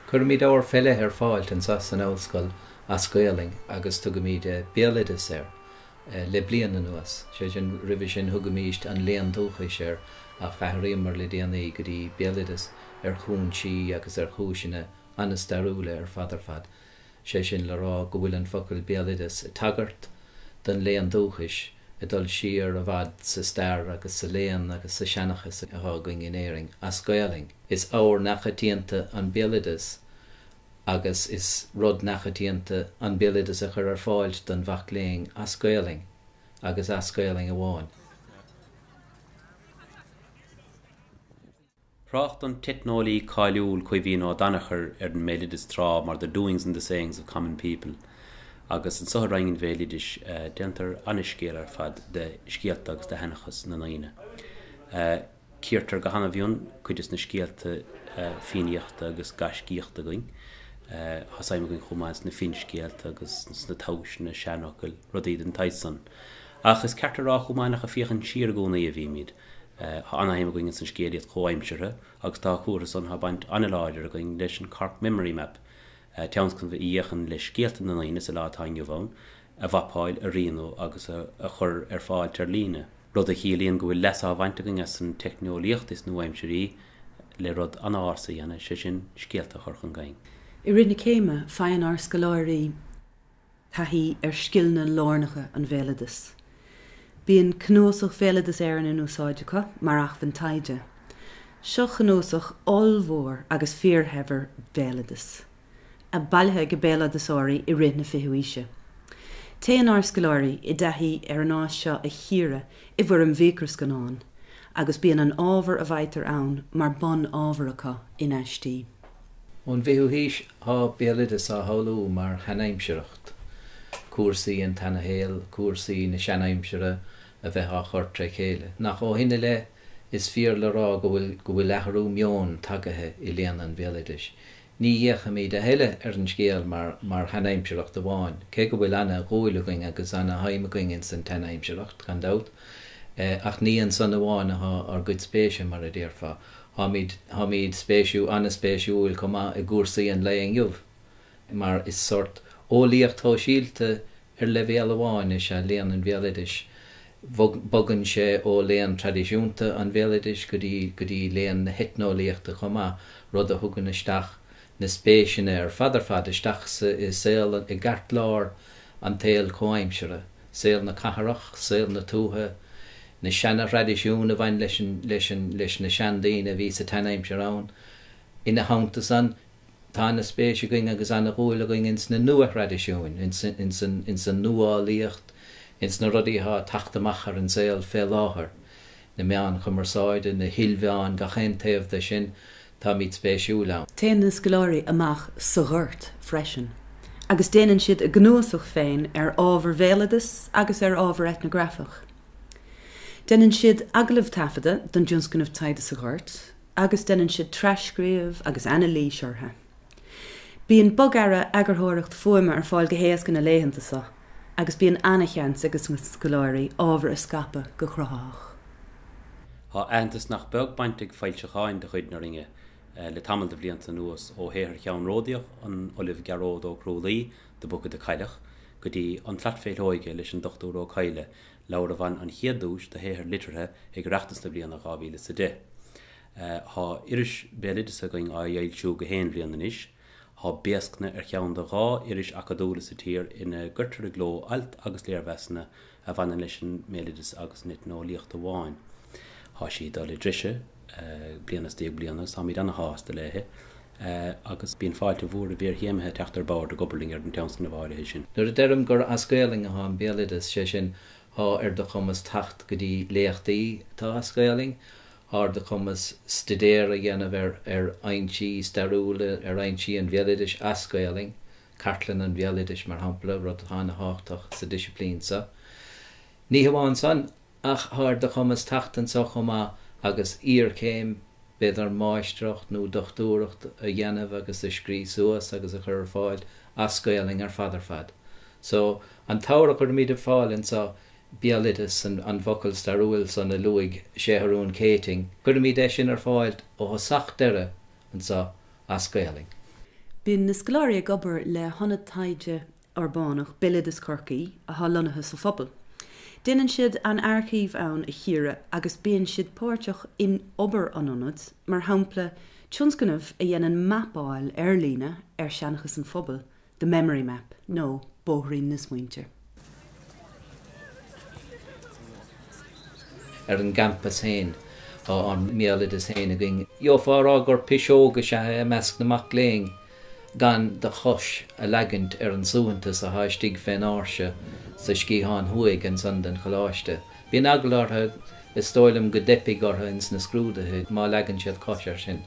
Cuirimid ábhar fé leith ar fáilt anso san ollscoil as Gaolainn agus tugaimid Béaloideas air le bliain anuas. Sé sin, roimhe sin thugaimíst an Léann Dúchais air ach athraíomar le déanaí go dtí Béaloideas ar chúinsí agus ar chúiseanna an-stairiúla ar fad ar fad. Sé sin le rá go bhfuil an focal béaloideas ag tagairt don léann dúchais, ag dul siar i bhfad sa stair agus sa léann agus sa seanchas athá againn in Éirinn, as Gaolainn. Is ábhar neamhchoitianta an béaloideas agus is rud neamhchoitianta an béaloideas a chur ar fáilt don mhac léinn as Gaolainn agus as Gaolainn amháin. Thrácht an t-eitneolaí cáiliúil Caoimhín Ó Danachair ar an mbéaloideas tráth mar the doings and the sayings of common people agus anso i Roinn an Bhéaloidis déantar ana-scéal ar fad de scéalta agus de sheanchas na ndaoine. Cíortar go hana-mhion cuid des na scéalta fiannaíochta agus gaiscíochta againn. Tá suim againn chomh maith sna finscéalta agus sna tomhaiseanna, seanfhocail, rudaí den tsaghas san. Ach is ceart a rá chomh maith nach ag féachaint siar i gcónaí a bhímid. Tá ana-shuim againn ins an scéalaíocht chomhaimseartha agus dá chomhartha san tá baint ana-láidir againn leis an Cork Memory Map, tionscnamh a fhéachann le scéalta na ndaoine sa lá atá inniu ann a mhapáil, a rianú agus a chur ar fáilt ar líne, rud a chiallaíonn go bhfuil leas á bhaint againn as an teicneolaíocht is nua-aimsirí le rud ana-ársa a dhéanamh, sé sin, scéalta a chur chun cinn. I rith na céime, faigheann ár scoláirí. taithí ar scileanna lárnacha an bhéaloidis. Bíonn Cnuasach Bhéaloideas Éireann in úsáid acu mar acmhainn taighde. Seo cnuasach ollmhór agus fíorshaibhir béaloideas, a bailithe ag béaloideasóirí i rith na fichiú aoise. Téann ár scoláirí i dtaithí ar an áis seo a chíoradh i bhfoirm mhicreascannán agus bíonn an ábhar a bhfaightear ann mar bun ábhar acu in aistí. Ón bhfichiú haois thá béaloideas á shamhlú mar sheanaimsireacht, cúrsaí an tseanashaoil, cúrsaí na seanaimsire a bheith á chur tré chéile. Nach ó shin i leith is fíor le rá go bhfuil go bhfuil athrú meoin tagaithe i léann an bhéaloidis. Ní fhéachaimid a thuilleadh ar an scéal mar mar sheanaimsireacht amháin, cé go bhfuil ana dhúil againn agus ana shuim againn ins an tseanaimsireacht, gan dabht, ach ní ansan amháin athá ár gcuid spéise, mar a déarfá. Táimid, táimid spéisiú, an-spéisiúil chomh maith i gcúrsaí an lae inniu, mar is sórt eolaíocht shóisialta ar leibhéal amháin is ea léann an bhéaloidis. Bogann sé ó léann traidisiúnta an bhéaloidis go dtí, go dtí léann na heitneolaíochta chomh maith, rud a thugann isteach na spéiseanna ar fad ar fad isteach sa, i saol, i gceartlár an tsaoil chomhaimseartha. saol na cathrach, saol na tuaithe, na seana-thraidisiúin a bhain leis an, leis an, leis na seandaoine a bhí sa tseanaimsir ann. Ina theannta san, tá ana-spéis againn agus ana-dhúil againn ins na nua-thraidisiúin, ins, ins an, ins an nuálaíocht, ins na rudaí atá ag teacht amach ar an saol fé láthair, na meáin chumarsáide, na hilmheáin, gach aon taobh de sin, táimid spéisiúil ann. Téann na scoláirí amach sa ghort freisin agus déanann siad a gcnuasach féin ar ábhar bhéaloideas agus ar ábhar eitneagrafach. Déanann siad agallaimh taifeadta don dtionscnamh Taighde sa Ghort agus déanann siad tras-scríobh agus anailís orthu. Bíonn bogearra eagarthóireacht fuaime ar fáil go héasca na laethanta seo agus bíonn ana-sheans ag na scoláirí ábhar a scaipeadh go cruthaitheach. Tá aitheantas nach beag bainte ag foilseacháin de chuid na Roinne le tamall de bhlianta anuas, ó shaothar cheannródaíoch an Ollaimh Gearóid Ó Cruadhlaoich, The Book of the Cailleach, go dtí An tSlat Féithleoige leis an Dr Ó Cadhla, leabhar a bhain an chéad duais do shaothar liteartha ag Oireachtas na bliana 2010. Tá iris béaloideasa againn á fhoilsiú gach aon bhliain anois. Tá Béascna ar cheann de dhá iris acadúla sa tír ina gcuirtear i gcló ailt agus léirmheasanna a bhaineann leis an mbéaloideas agus an eitneolaíocht amháin. Tá sí ag dul i dtreise bliain i ndiaidh bliana agus táimid ana-shásta léi agus bíonn fáilte mhór roimh iarchéimithe teacht ar bord ag obair linn ar an tionscnamh áirithe sin. Nuair a deirim gur as Gaolainn athá an béaloideas, sé sin, thá ar do chumas teacht go dtí léachtaí atá as Gaolainn, thá ar do chumas stuidéar a dhéanamh ar ar fhoinsí stairiúla, ar fhoinsí an bhéaloidis as Gaolainn, Cartlann an Bhéaloidis, mar shampla, rud atá ana-thábhachtach sa disciplín seo. Ní hamháin san, ach thá ar do chumas teacht anso chomh maith agus iarchéim, b'fhéidir máistreacht nó dochtúireacht a dhéanamh agus a scrí suas agus a chur ar fáil as Gaolainn ar fad ar fad. So, an t-ábhar a chuirimid ar fáil anso, béaloideas, an focal stairiúil san a luaigh Séathrún Céitinn, cuirimid é sin ar fáil ó thosach deireadh anso as Gaolainn. Bíonn na scoláirí ag obair le hionad taighde urbánach, Béaloideas Chorcaí, atá lonnaithe sa phobal. Déanann siad an aircív ann a chíoradh agus bíonn siad páirteach in obair an ionaid, mar shampla tionscnamh a dhéanann mapáil ar líne ar sheanchas an phobail, The Memory Map nó Bóithrín na Smaointe. Ar an gcampas féin, tá ár mbéaloideas féin againn. Gheofá a rá gur piseog is ea é i measc na mac léinn gan do chois a leagaint ar an suaitheantas atá istigh fén áirse sa sciathán thuaidh ansan den choláiste. Bíonn eagla orthu, is dóigh liom, go dteipfidh orthu ins na scrúduithe má leagann siad cois air sin.